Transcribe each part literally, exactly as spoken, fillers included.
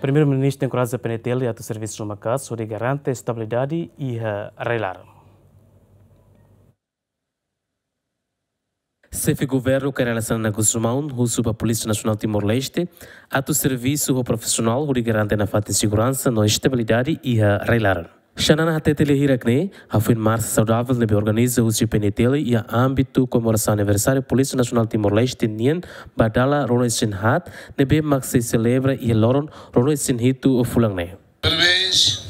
Primeiru-Ministru enkoraja P N T L atu servisu maka'as hodi garante estabilidade iha rai-laran. Xefe Governu Kay Rala Xanana Gusmão husu ba Polísia Nasionál Timor-Leste atu servisu ho profisionál hodi garante nafatin seguransa no estabilidade iha rai-laran. Xanana hatete lia hirak ne'e, hafoin marsa saudavel ne'ebé organiza husi P N T L iha ámbitu komemorasaun aniversáriu Polísia Nasionál Timor-Leste nian ba dala ruanulu-resin-haat, ne'ebé mak sei selebra iha loron ruanulu-resin-hitu fulan ne'e. Parabéns.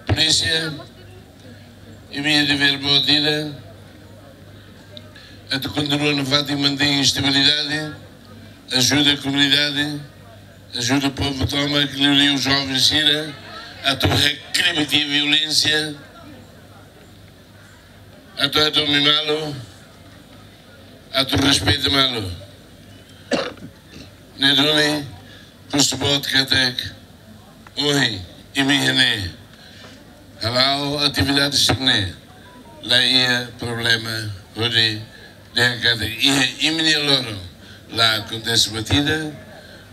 Polísia, imi-nia devér boot ida, atu kontinua nafatin mantein estabilidade, ajuda komunidade, ajuda povu tomak, liuliu joven sira, atu rekribiti violénsia, atu, atu mimá-lo, atu respeita malu. Ne'e duni, husu boot katak, ohin, imi iha ne'e, hala'o atividade sira-ne'e, la iha problema, hodi dehan katak iha imi-nia loron la akontese buat ida,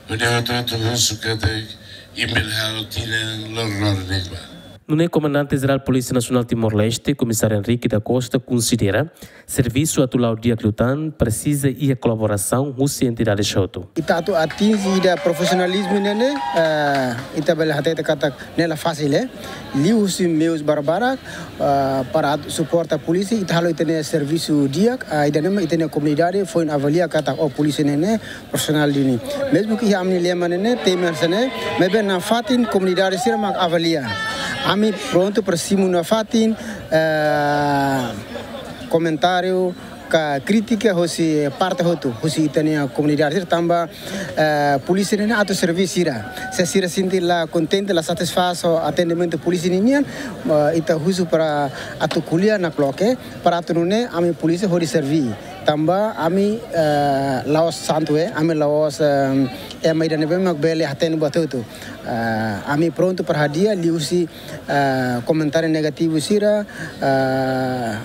hodi hotu-hotu husu katak imi bele halo tinan loron-loron ne'ebá. Nune'e Komandante Jerál Polísia Nasionál Timor-Leste, Komisáriu Henrique da Costa, konsidera servisu atu la'o di'ak liután presiza iha kolaborasaun husi entidades hotu. Ita atu atinje ida profisionalizmu ne'e ne'e, eh, ita bele hatete katak ne'e la fasil, eh. Liuhusi meius barbarak, eh, para atu suporta polísia, ita halo ita-nia servisu di'ak, eh, ida-ne'e mak ita-nia komunidade foin avalia katak, oh, polísia ne'e ne'e profisionál duni. Mezmu ke iha ami-nia lema ne'e ne'e, temi hanesan ne'e, maibé nafatin komunidade sira mak avalia. Ami prontu para simu nafatin, eh, komentáriu ka krítika hosi parte hotu, hosi ita-nia komunidade sira tanba, eh, polísia ne'e ne'e atu servisu sira. Se sira sente la kontente, la satisfás ho atendimentu polísia ninian, eh, ita husu para atu ko'alia nakloke, para atu nune'e ami polísia hodi serví. Tanba ami, eh, la'ós santu, eh, ami la'ós, eh, ema ida ne'ebé mak bele hatene buat hotu. Eh, ami prontu para hadi'a liuhusi, eh, komentáriu negativu sira, eh,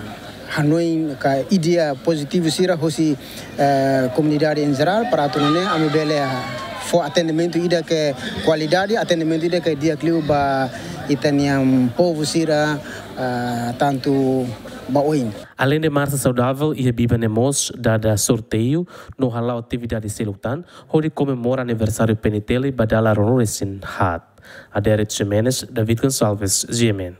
hanoin ka ideia pozitivu sira hosi, eh, komunidade em geral, para atu nune'e ami bele, ah, fó atendimentu ida ke kualidade, atendimentu ida ke di'ak liu ba ita-nia povu sira, ah, tantu ba oin. Aleinde marsa saudavel, iha biban ne'e mós dada sorteiu no hala'o atividade seluk tan, hodi komemora aniversáriu P N T L ba dala ruanulu-resin-haat. Adérito Ximenes, David Gonçalves, G M N.